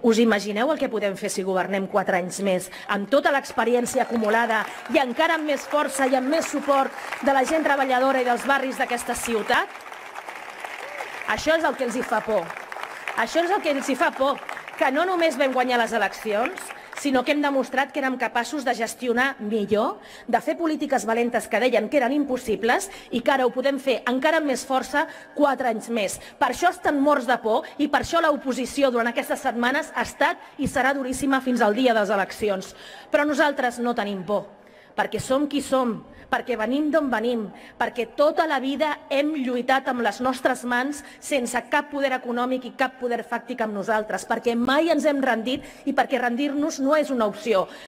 Us imagineu el que podem fer si governem 4 anys més, amb tota l'experiència acumulada i encara amb més força i amb més suport de la gent treballadora i dels barris d'aquesta ciutat? Això és el que els hi fa por. Això és el que els hi fa por, que no només vam guanyar les eleccions, sinó que hem demostrat que érem capaços de gestionar millor, de fer polítiques valentes que deien que eren impossibles i que ara ho podem fer encara amb més força 4 anys més. Per això estan morts de por i per això l'oposició durant aquestes setmanes ha estat i serà duríssima fins al dia de les eleccions. Però nosaltres no tenim por, perquè som qui som, perquè venim d'on venim, perquè tota la vida hem lluitat amb les nostres mans sense cap poder econòmic i cap poder fàctic amb nosaltres, perquè mai ens hem rendit i perquè rendir-nos no és una opció.